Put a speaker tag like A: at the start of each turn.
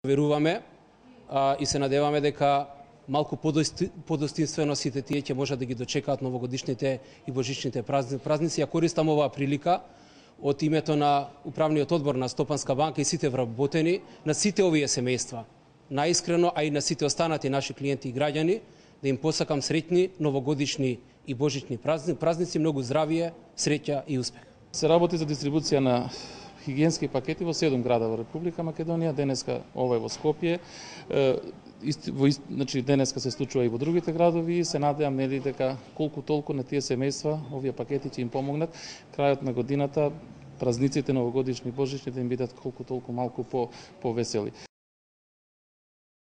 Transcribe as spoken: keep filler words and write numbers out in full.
A: Веруваме а, и се надеваме дека малку подостинствено сите тие ќе можат да ги дочекаат новогодишните и божичните празници. Ја користам оваа прилика од името на управниот одбор на Стопанска банка и сите вработени на сите овие семејства, наискрено, а и на сите останати наши клиенти и граѓани, да им посакам среќни новогодишни и божични празници, многу здравие, среќа и успех.
B: Се работи за дистрибуција на хигиенски пакети во седум града во Република Македонија, денеска ова е во Скопје, во, значи денеска се случува и во другите градови и се надевам нели дека колку толку на тие семејства овие пакети ќе им помогнат крајот на годината, празниците новогодишни, божични да им бидат колку толку малку по повесели.